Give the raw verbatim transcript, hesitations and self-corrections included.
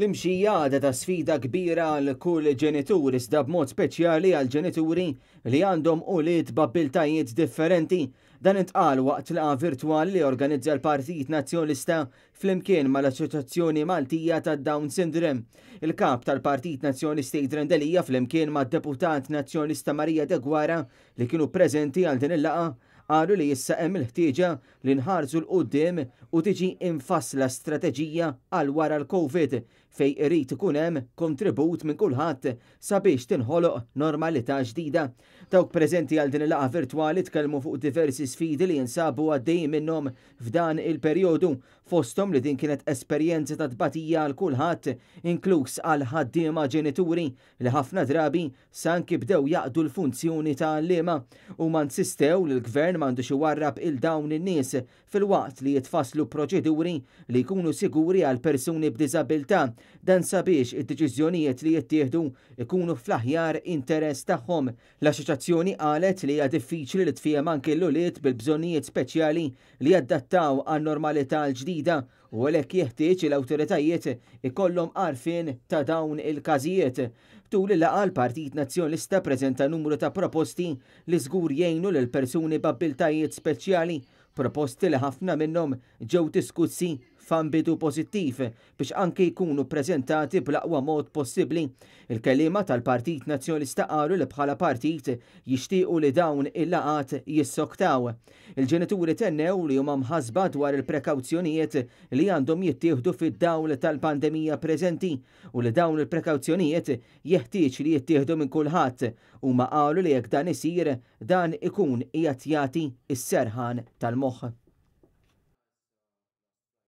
L-imxija għadha ta' sfida kbira għal kull ġenitur, iżda b'mod speċjali għal ġenituri li għandhom ulied b'abbiltajiet differenti. Dan intqal waqt laqgħa virtwali li organizza l-Partit Nazzjonalista flimkien mal-Assoċjazzjoni Maltija ta' Down Syndrome. Il-kap tal-Partit Nazzjonalista Adrian Delia flimkien mad-deputat Nazzjonalista Maria Deguara, li kienu preżenti għal din il-laqgħa, qalu li issa hemm il-ħtieġa li nħarsu 'l quddiem u tiġi infassla strateġija għal wara l-Covid, fejn irid ikun hemm kontribut minn kulħadd sabiex tinħoloq normalità ġdida. Dawk preżenti għal din il-laqgħa virtwali tkellmu fuq diversi sfidi li jinsabu għaddejjin minnhom f'dan il-perjodu, fosthom li din kienet esperjenza ta' tbatija għal kulħadd, inkluż għal ħaddiema ġenituri li ħafna drabi sanki bdew jaqdu l-funzjoni ta' għalliema, u ma insistew li l-gvern m'għandux iwarrab lil dawn in-nies filwaqt li jitfasslu proċeduri li jkunu siguri għal persuni b'diżabilità, dan sabiex id-deċiżjonijiet li jittieħdu ikunu fl-aħjar interess tagħhom. L-assoċjazzjoni qalet li hija diffiċli li tfiehem anke l-ulied bil-bżonnijiet speċjali li jadattaw għan-normalità l-ġdida, u għalhekk jeħtieġ l-awtoritajiet ikollhom għarfien ta' dawn il-każijiet. Tul il-laqgħa l-Partit Nazzjonalista preżenta numru ta' proposti li żgur jgħinu lil persuni b'abbiltajiet speċjali, proposti li ħafna minnhom ġew diskussi f'ambitu pożittiv biex anke jkunu preżentati bl-aqwa mod possibbli. Il-kelliema tal-Partit Nazzjonalista qalu li bħala partit jixtiequ li dawn il-laqgħat jissoktaw. Il-ġenituri tennew li huma mħasba dwar il-prekawzjonijiet li għandhom jittieħdu fid-dawl tal-pandemija preżenti u li dawn il-prekawzjonijiet jeħtieġ li jittieħdu minn kulħadd. Huma qalu li jekk dan isir, dan ikun qiegħed jagħti s-serħan tal-moħħ.